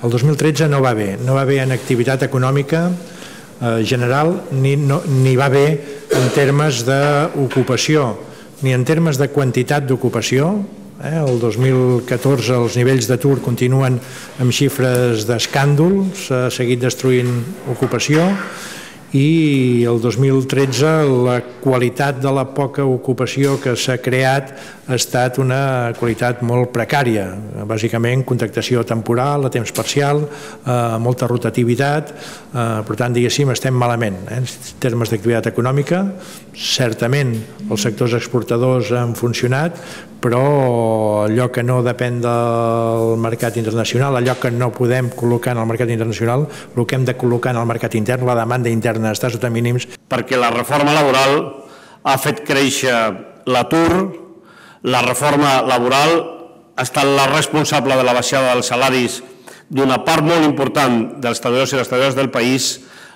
El 2013 no va bé, no va bé en activitat econòmica general ni va bé en termes d'ocupació, ni en termes de quantitat d'ocupació. El 2014 els nivells d'atur continuen amb xifres d'escàndol, s'ha seguit destruint ocupació, i el 2013 la qualitat de la poca ocupació que s'ha creat ha estat una qualitat molt precària, bàsicament contractació temporal, a temps parcial, molta rotativitat. Per tant, diguéssim, estem malament en termes d'activitat econòmica. Certament els sectors exportadors han funcionat, però allò que no depèn del mercat internacional, allò que no podem col·locar en el mercat internacional, el que hem de col·locar en el mercat intern, la demanda interna està sota mínims. Perquè la reforma laboral ha fet créixer l'atur, la reforma laboral ha estat la responsable de la baixada dels salaris d'una part molt important dels treballadors i les treballadores del país.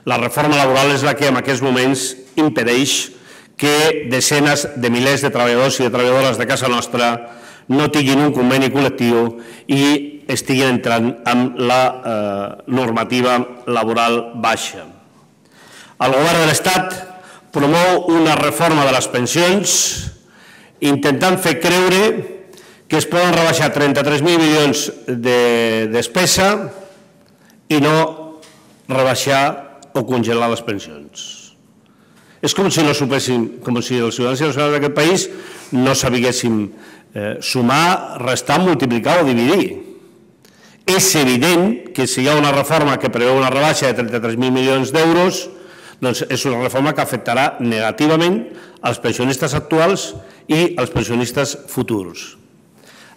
La reforma laboral és la que en aquests moments impedeix que desenes de milers de treballadors i de treballadores de casa nostra no tinguin un conveni col·lectiu i estiguin entrant amb la normativa laboral baixa. El govern de l'Estat promou una reforma de les pensions intentant fer creure que es poden rebaixar 33.000 milions de despesa i no rebaixar o congelar les pensions. És com si no supéssim, com si els ciutadans i les ciutadanes d'aquest país no sabiguéssim sumar, restar, multiplicar o dividir. És evident que si hi ha una reforma que preveu una rebaixa de 33.000 milions d'euros, doncs és una reforma que afectarà negativament als pensionistes actuals i als pensionistes futurs.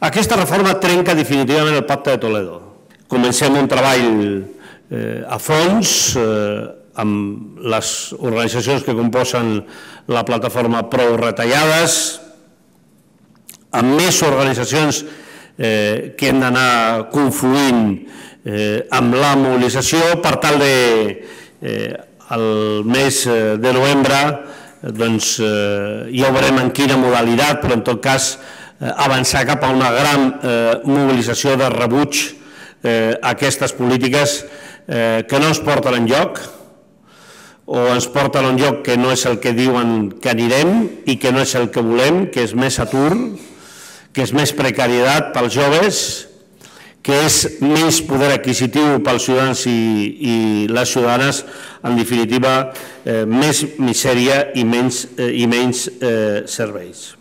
Aquesta reforma trenca definitivament el Pacte de Toledo. Comencem un treball a fons amb les organitzacions que composen la plataforma Prou Retallades, amb més organitzacions que hem d'anar confluint amb la mobilització per tal de el mes de novembre ja veurem en quina modalitat, però en tot cas avançar cap a una gran mobilització de rebuig a aquestes polítiques que no ens porten enlloc o ens porten a un lloc que no és el que diuen que anirem i que no és el que volem, que és més atur, que és més precarietat pels joves, que és menys poder adquisitiu pels ciutadans i les ciutadanes, en definitiva, més misèria i menys serveis.